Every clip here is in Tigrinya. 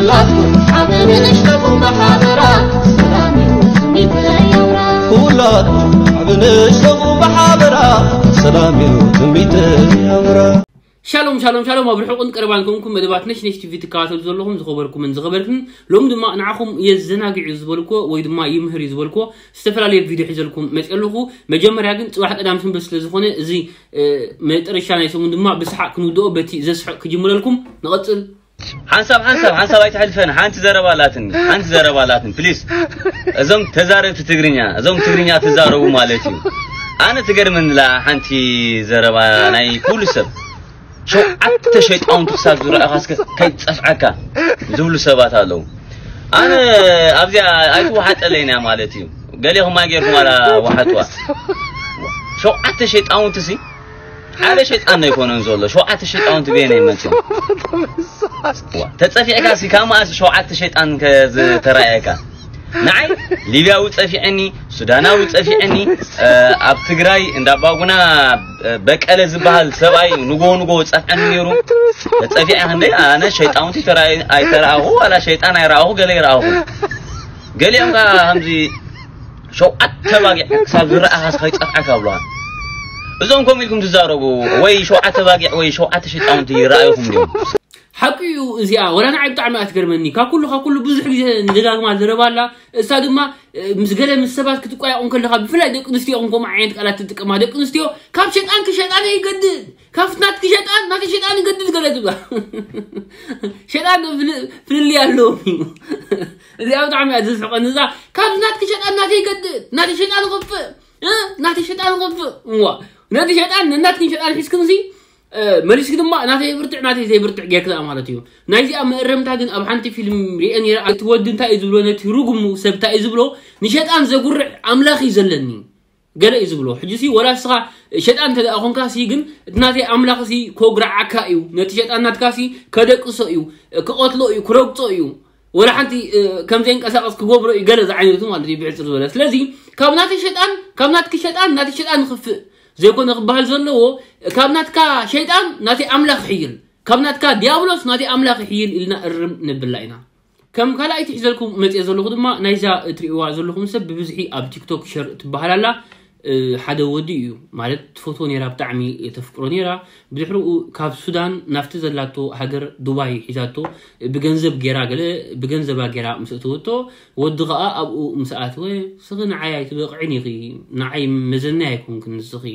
ኩላትኩም ዓቢ ንእሽተኹም ብሓበራ ሰላም እዩ ትምኒተይ ኣውራ። ኩላትኩም ዓቢ ንእሽተኹም ብሓበራ ሰላም እዩ ትምኒተይ ኣውራ። ሻሎም ሻሎም ሻሎም ኣብ ርሑቕን ቀረባን ኮንኩም መደባት ነሽ ነሽ ቲቪ ትከታተሉ ዘለኹም ዝኸበርኩምን ዝኸበርክን፣ ሎም ድማ ንዓኹም የዘናግዕ እዩ ዝበልኮ ወይ ድማ ይምህር እዩ ዝበልኮ ዝተፈላለየ ቪድዮ ሒዘልኩም መፅእ ኣለኹ። መጀመርያ ግን ፅባሕ ቀዳም ሰንበት ስለ ዝኾነ እዚ መጠረሻ ናይ ሰሙን ድማ ብስሓቅ ክንውድኦ በቲ ዘስሕቅ ክጅምረልኩም። ንቐፅል። ሓንሳብ ሓንሳብ ሓንሳብ ኣይትሕልፈን። ሓንቲ ዘረባ ኣላትኒ፣ ሓንቲ ዘረባ ኣላትኒ ፕሊስ። እዞም ተዛረብቲ ትግርኛ፣ እዞም ትግርኛ ትዛረቡ ማለት እዩ። ኣነ ትገርመንላ ሓንቲ ዘረባ ናይ ኩሉ ሰብ። ሸውዓተ ሸይጣውንቲ ክሳብ ዝረኣኻ እስከ ከይጸፍዓካ ዝብሉ ሰባት ኣለዉ። ኣነ ኣብዚኣ ኣይትወሓጠለይን እያ ማለት እዩ። ገሌኹም ኣይጌርኩም ኣላ ወሓጥዋ። ሸውዓተ ሸይጣውንቲ ሲ ሓደ ሸይጣን ኣይኮነን ዘሎ። ሸውዓተ ሸይጣውንቲ በየናይ መጽዮም? ተጸፊዕካ ሲ ካብ መኣስ ሸውዓተ ሸይጣን ከዝተራእየካ? ንዓይ ሊብያዊ ጸፊዐኒ፣ ሱዳናዊ ጸፊዐኒ። ኣብ ትግራይ እንዳባጉና በቀለ ዝበሃል ሰብኣይ ንጎ ንጎ ጸፍዐኒ ነይሩ። ተጸፊዐ ክንደይ ኣነ ሸይጣውንቲ ኣይተራእኹ ዋላ ሸይጣን ኣይረኣኹ ገለ ይረኣኹ። ገሊኦም ከኣ ከምዚ ሸውዓተ ባጊዕ ክሳብ ዝረኣኻ ከይጸፍዓካ ብለኻ። እዞም ከምኡ ኢልኩም ትዛረቡ ወይ ሸውዓተ ባጊዕ ወይ ሸውዓተ ሸይጣውንቲ ይረኣዩኹም ድዮም? ሓቂ እዩ። እዚኣ ወላ ንዓይ ብጣዕሚ ኣትገርመኒ። ካብ ኩሉ ካብ ኩሉ ብዙሕ ግዜ ንደጋግማ ዘረባ ኣላ። እሳ ድማ ምስ ገለ ምስ ሰባት ክትቋየቑ ከለኻ ብፍላይ ደቂ ኣንስትዮ ኹም ከምኡ ዓይነት ቃላት ትጥቀማ። ደቂ ኣንስትዮ ካብ ሸጣን ክሸጣን ይገድድ፣ ካብ ናትኪ ሸጣን ናተይ ሸጣን ይገድድ ገለ ትብላ። ሸጣን ፍልልይ ኣለዎም እዩ። እዚኣ ብጣዕሚ እያ ዘስሕቐኒ። እዛ ካብ ናትኪ ሸጣን ናተይ ይገድድ፣ ናተይ ሸጣን ይኸፍእ፣ ናተይ ሸጣን ይኸፍእ። እዋ ነቲ ሸጣን ነናትክን ሸጣን ሒዝክንሲ መሊስኪ ድማ ናተይ ብርትዕ ናተይ ዘይብርትዕ ጌርክኣ ማለት እዩ። ናይዚኣ መእረምታ ግን ኣብ ሓንቲ ፊልም ሪአ ነይረ። እቲ ወዲ እንታይ እዩ ዝብሎ፣ ነቲ ርጉሙ ሰብ እንታይ እዩ ዝብሎ፣ ንሸጣን ዘጉርዕ ኣምላኽ እዩ ዘለኒ ገለ እዩ ዝብሎ። ሕጂ ሲ ወላ እስኻ ሸጣን እንተ ደኣ ኾንካ ሲ ግን እቲ ናተይ ኣምላኽ ሲ ኮጉርዓካ እዩ፣ ነቲ ሸጣን ናትካ ሲ ከደቅሶ እዩ፣ ክቐትሎ እዩ፣ ክረግጾ እዩ፣ ወላ ሓንቲ ከም ዘይንቀሳቐስ ክገብሮ እዩ ገለ ዝዓይነቱ ማለት እዩ ብሕጽር ዝበለ። ስለዚ ካብ ናተይ ሸጣን ካብ ናትኪ ሸጣን ናተይ ሸጣን ንኽፍእ ዘይኮነ ክበሃል ዘለዎ፣ ካብ ናትካ ሸይጣን ናተይ ኣምላኽ ይሕይል፣ ካብ ናትካ ዲያብሎስ ናተይ ኣምላኽ ይሕይል ኢልና እርም ንብላ ኢና። ከም ካልኣይቲ ሒዘልኩም መፅየ ዘለኹ ድማ ናይዛ እትሪእዋ ዘለኹም ሰብ ብብዝሒ ኣብ ቲክቶክ ሸር ትበሃል ኣላ። ሓደ ወዲ እዩ ማለት ትፈትዎ ነይራ፣ ብጣዕሚ ተፍቅሮ ነይራ። ብድሕሪኡ ካብ ሱዳን ናብቲ ዘላቶ ሃገር ዱባይ ሒዛቶ ብገንዘብ ገይራ ገለ ብገንዘባ ገይራ ምስ እተወቶ ወዲ ኸኣ ኣብኡ ምስ ኣተወ ስኺ ንዓይ ኣይትበቕዕን ኢኺ፣ ንዓይ መዘናይ ኣይኮንክን ንስኺ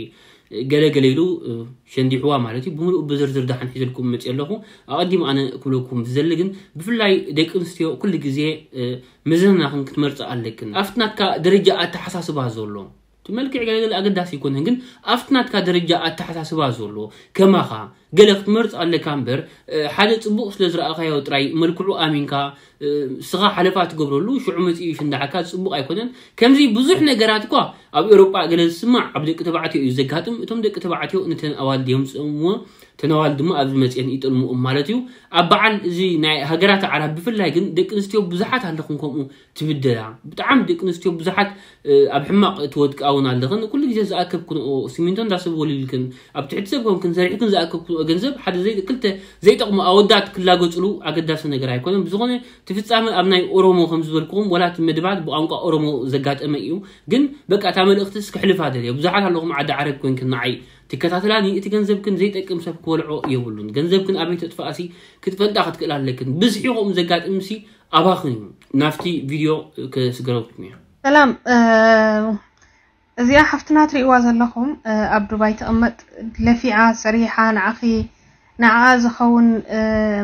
ገለ ገለ ኢሉ ሸንዲሕዋ ማለት እዩ። ብምሉእ ብዝርዝር ደሓን ሒዘልኩም መፅእ ኣለኹ። ኣቐዲም ኣነ ክብለኩም ዝዘሊ ግን ብፍላይ ደቂ ኣንስትዮ ኩሉ ግዜ መዘናኽን ክትመርፃ ኣለክን። ኣብቲ ናትካ ደረጃ ኣተሓሳስባ ዘሎ እቲ መልክዕ ገለገለ ኣገዳሲ ኣይኮነን፣ ግን ኣብቲ ናትካ ደረጃ ኣተሓሳስባ ዘሎ ከማኻ ገለ ክትመርፅ ኣለካ እምበር ሓደ ፅቡቕ ስለ ዝረኣኻዮ ጥራይ መልክዑ ኣሚንካ ስኻ ሓለፋ ትገብረሉ ሽዑ መፂኡ ሽንዳዓካ ፅቡቕ ኣይኮነን። ከምዚ ብዙሕ ነገራት እኳ ኣብ ኤውሮጳ ገለ ዝስማዕ ኣብ ደቂ ተባዕትዮ እዩ ዘጋጥም። እቶም ደቂ ተባዕትዮ ነተን ኣዋልድ የምፅኦምዎ፣ እተን ኣዋልድ ድማ ኣብዚ መፅአን ይጠልምኦም ማለት እዩ። ኣብ በዓል እዚ ናይ ሃገራት ዓራብ ብፍላይ ግን ደቂ ኣንስትዮ ብዙሓት ኣለኽን ከምኡ ትብደላ። ብጣዕሚ ደቂ ኣንስትዮ ብዙሓት ኣብ ሕማቕ ትወድቃ እውን ኣለኽን። ኩሉ ግዜ ዝኣከብክንኦ ሲሚንቶ እንዳሰብ ወሊልክን ኣብ ትሕቲ ሰብ ኮንክን ሰሪሕክን ዝኣከብክንኦ ገንዘብ ሓደ ዘይ ክልተ ዘይጠቕሙ ኣወዳት ክላገፅሉ ኣገዳሲ ነገር ኣይኮነን። ብዝኾነ እቲ ፍጻመ ኣብ ናይ ኦሮሞ ከም ዝበልክኹም ወላ እቲ መድባት ብቋንቋ ኦሮሞ ዘጋጠመ እዩ። ግን በቃ እታ መልእኽትስ ክሕልፋ ደልየ። ብዙሓት ኣለኹም ዓዲ ዓረብ ኮንክን ንዓይ ትከታተላኒ፣ እቲ ገንዘብክን ዘይጠቅም ሰብ ክበልዖ የብሉን። ገንዘብክን ኣበይ ተጥፍኣሲ ክትፈልጣ ክትክእል ኣለክን። ብዝሒ ከምኡ ዘጋጥምሲ ኣባኽን እዩ። ናብቲ ቪድዮ ክስገረኩም እየ። ሰላም እዚኣ ሓፍትና ትሪእዋ ዘለኹም ኣብ ዱባይ ትቕመጥ ለፊዓ ሰሪሓ ንዓኺ ንዓኣ ዝኸውን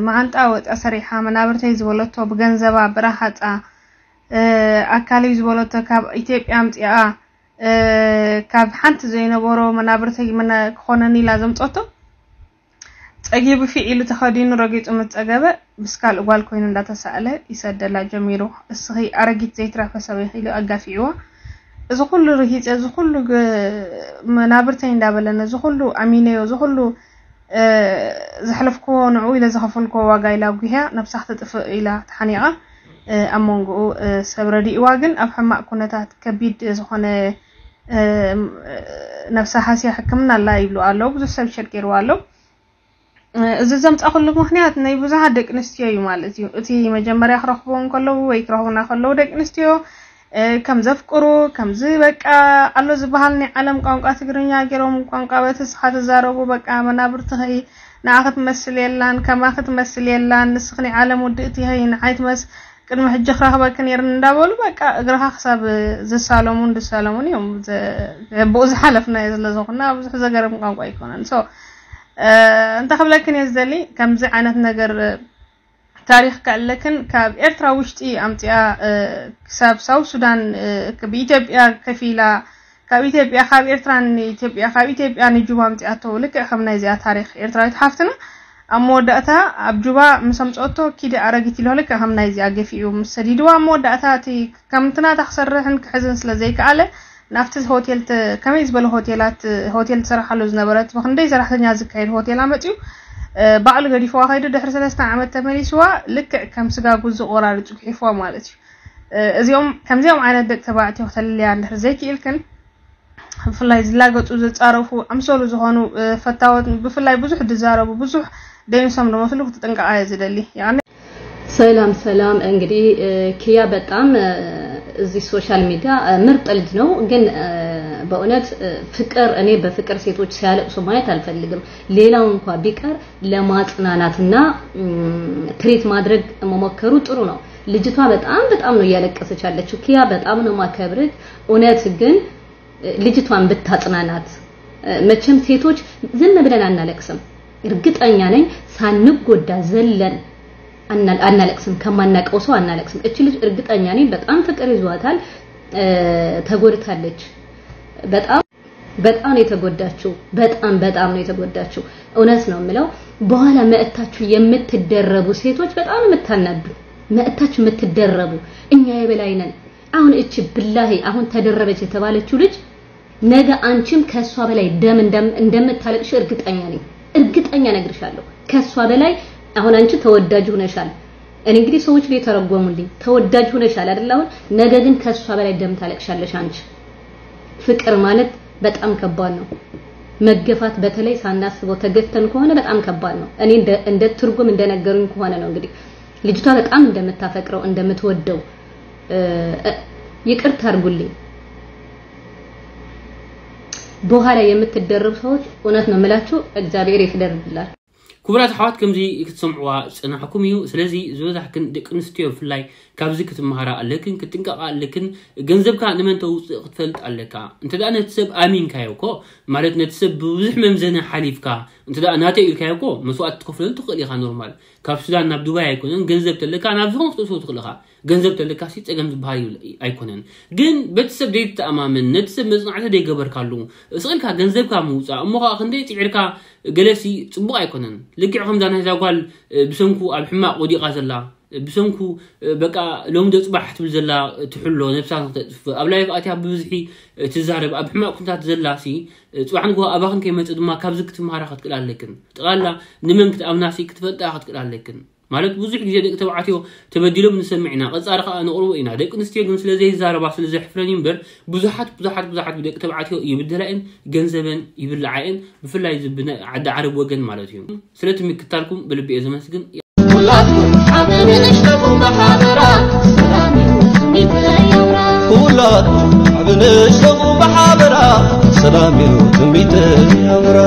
መዓንጣ ወፃ ሰሪሓ መናብርተይ ዝበለቶ ብገንዘባ ብረሃፃ ኣካለይ ዝበለቶ ካብ ኢትዮጵያ ኣምፂኣ ካብ ሓንቲ ዘይነበሮ መናብርተይ ክኾነኒ ኢላ ዘምፀቶ ፀጊቡ ፊዕ ኢሉ ተኸዲኑ ረጊፁ ምስ ፀገበ ምስ ካልእ ጓል ኮይኑ እንዳተሳእለ ይሰደላ ጀሚሩ። እስኺ ኣረጊት ዘይትረፈ ሰብ ኢኺ ኢሉ ኣጋፊዕዋ። እዚ ኩሉ ርሂፀ እዚ ኩሉ መናብርተይ እንዳበለ ነዚ ኩሉ ኣሚነዮ እዚ ኩሉ ዘሕለፍክዎ ንዕኡ ኢለ ዝኸፈልክዎ ዋጋ ኢላ ኣጉህያ ነብሳ ክትጥፍእ ኢላ ተሓኒቓ ኣብ መንጎኡ ሰብ ረዲእዋ ግን ኣብ ሕማቕ ኩነታት ከቢድ ዝኾነ ነብሳ ሃስያ ሕክምና ኣላ ይብሉ ኣለዉ። ብዙሕ ሰብ ሸር ገይርዋ ኣሎ። እዚ ዘምጻኹሉ ምኽንያት ናይ ብዙሓት ደቂ ኣንስትዮ እዩ ማለት እዩ። እቲ መጀመርያ ክረኽብዎ እንከለዉ ወይ ክረኽቡና ከለዉ ደቂ ኣንስትዮ ከም ዘፍቅሩ፣ ከምዚ በቃ ኣሎ ዝበሃል ናይ ዓለም ቋንቋ ትግርኛ ገይሮም ቋንቋ በቲ ንስኻ ትዛረቡ በቃ መናብርትኺ ንዓኺ ትመስል የላን፣ ከማኺ ትመስል የላን፣ ንስኺ ናይ ዓለም ውድእቲ ኢኺ፣ ንዓይ ትመስ ቅድሚ ሕጂ ክረኽበኪ ነይርኒ እንዳበሉ በቃ እግርኻ ክሳብ ዝሳለሙን ዝሳለሙን እዮም። ብኡ ዝሓለፍናዮ ስለ ዝኾንና ብዙሕ ዘገርም ቋንቋ ኣይኮነን። So እንታይ ክብለክን እየ ዝደሊ፣ ከምዚ ዓይነት ነገር ታሪኽ ከኣለክን ካብ ኤርትራ ውሽጢ ኣምፂኣ ክሳብ ሳውት ሱዳን ብኢትዮጵያ ከፊላ ካብ ኢትዮጵያ ካብ ኤርትራ ንኢትዮጵያ ካብ ኢትዮጵያ ንጁባ ኣምፂኣቶ ልክዕ ከም ናይዚኣ ታሪኽ ኤርትራዊት ሓፍትና ኣብ መወዳእታ ኣብ ጁባ ምስ ኣምፀኦቶ ኪዲ ኣረጊት ኢሎ ልክዕ ከም ናይዚኣ ገፊኡ ምስ ሰዲድዋ ኣብ መወዳእታ እቲ ከምቲ ናታ ክሰርሕን ክሕዝን ስለ ዘይከኣለ ናብቲ ሆቴል ከመይ ዝበለ ሆቴላት ሆቴል ትሰርሓሉ ዝነበረት ብክንደይ ሰራሕተኛ ዝካየድ ሆቴል ኣመፅኡ ባዕሉ ገዲፍዋ ከይዱ ድሕሪ ሰለስተ ዓመት ተመሊስዋ ልክዕ ከም ስጋ ጉዚ ቆራሪፁ ክሒፍዋ ማለት እዩ። እዚኦም ከምዚኦም ዓይነት ደቂ ተባዕትዮ ክተልልያ እንድሕር ዘይክኢልክን ብፍላይ ዝላገፁ ዝፃረፉ ኣምሰሉ ዝኾኑ ፈታወት ብፍላይ ብዙሕ ዝዛረቡ ብዙሕ ደይንሶም ዝመስሉ ክትጥንቀቃ እየ ዝደሊ። ሰላም ሰላም። እንግዲህ ኪያ በጣም እዚህ ሶሻል ሚዲያ ምርጥ ልጅ ነው፣ ግን በእውነት ፍቅር እኔ በፍቅር ሴቶች ሲያለቅሱ ማየት አልፈልግም። ሌላው እንኳ ቢቀር ለማጽናናትና ትሪት ማድረግ መሞከሩ ጥሩ ነው። ልጅቷ በጣም በጣም ነው እያለቀሰች ያለችው። ኪያ በጣም ነው ማከብርህ። እውነት ግን ልጅቷን ብታጽናናት። መቼም ሴቶች ዝም ብለን አናለቅስም። እርግጠኛ ነኝ ሳንጎዳ ዘለን አናለቅስም፣ ከማናቀው ሰው አናለቅስም። እቺ ልጅ እርግጠኛ ነኝ በጣም ፍቅር ይዟታል፣ ተጎድታለች። በጣም በጣም ነው የተጎዳችው። በጣም በጣም ነው የተጎዳችው። እውነት ነው የምለው። በኋላ መእታችሁ የምትደረቡ ሴቶች በጣም ነው የምታናዱ። መእታችሁ የምትደረቡ እኛ የበላይ ነን። አሁን እቺ ብላሂ አሁን ተደረበች የተባለችው ልጅ ነገ አንቺም ከሷ በላይ ደም እንደምታለቅሽ እርግጠኛ ነኝ። እርግጠኛ ነግርሻለሁ። ከሷ በላይ አሁን አንቺ ተወዳጅ ሆነሻል። እኔ እንግዲህ ሰዎች ሊተረጎሙልኝ ተወዳጅ ሆነሻል አይደል? አሁን ነገ ግን ከሷ በላይ ደም ታለቅሻለሽ አንቺ። ፍቅር ማለት በጣም ከባድ ነው። መገፋት በተለይ ሳናስበው ተገፍተን ከሆነ በጣም ከባድ ነው። እኔ እንደ ትርጉም እንደነገሩኝ ከሆነ ነው እንግዲህ ልጅቷ በጣም እንደምታፈቅረው እንደምትወደው። ይቅርታ አድርጉልኝ። በኋላ የምትደረቡ ሰዎች እውነት ነው የምላችሁ፣ እግዚአብሔር ይፍረድላችሁ። ክቡራት ኣሕዋት ከምዚ ክትሰምዕዋ ዝጸናሕኩም እዩ። ስለዚ ዝበዛሕክን ደቂ ኣንስትዮ ብፍላይ ካብዚ ክትመሃራ ኣለክን ክትጥንቀቓ ኣለክን። ገንዘብካ ንመን ተውፅእ ክትፈልጥ ኣለካ። እንተ ደኣ ነቲ ሰብ ኣሚንካዮ እኮ ማለት ነቲ ሰብ ብብዙሕ መምዘኒ ሓሊፍካ እንተ ደኣ ናተይ ኢልካዮ እኮ መስዋእቲ ትኸፍለሉ ትኽእል ኢኻ። ኖርማል ካብ ሱዳን ናብ ዱባይ ኣይኮነን። ገንዘብ ተለካ ናብ ዝኾነ ክትእትዎ ትኽእል ኢኻ። ገንዘብ ተለካ ሲ ጸገም ዝበሃል ኣይኮነን። ግን በቲ ሰብ ዘይትተኣማመን ነቲ ሰብ መጽናዕቲ ዘይገበርካሉ ስቕ ኢልካ ገንዘብካ ምውጻእ እሞ ከዓ ክንደይ ጽዒርካ ገለሲ ጽቡቕ ኣይኮነን። ልክዕ ከምዛ ናይዛ ጓል ብሰንኩ ኣብ ሕማቕ ወዲቓ ዘላ ብሰንኩ በቃ ሎምዶ ጽባሕ ትብል ዘላ ትሕሎ ነብሳ ንክተጥፍእ ኣብ ላይፍ ኣትያ ብብዝሒ ትዛረብ ኣብ ሕማቕ ኩነታት ዘላ ሲ ጽባሕ ንግሆ ኣባኽን ከይመጽእ ድማ ካብዚ ክትመሃራ ክትክእል ኣለክን። ጠቕላላ ንመን ክትኣምና ሲ ክትፈልጣ ክትክእል ኣለክን። ማለት ብዙሕ ግዜ ደቂ ተባዕትዮ ተበዲሎም ንሰምዕ ኢና፣ ቀጻሪ ከኣ ነቕርቦ ኢና። ደቂ ኣንስትዮ ግን ስለ ዘይዛረባ ስለ ዘሕፍረን እዩ እምበር ብዙሓት ብዙሓት ብዙሓት ብደቂ ተባዕትዮ ይብደላ እየን፣ ገንዘበን ይብልዓ እየን፣ ብፍላይ እዚ ብናይ ዓዲ ዓረብ ወገን ማለት እዩ። ስለቲ ምክታልኩም ብልቢ እየ ዘመስግን። ኩላትኩም ሓብንሽ ለቡ ማሓበራ ሰላም እዩ ትምኒተይ ኣውራ። ኩላትኩም ሓብንሽ ለቡ ማሓበራ ሰላም እዩ ትምኒተይ ኣውራ።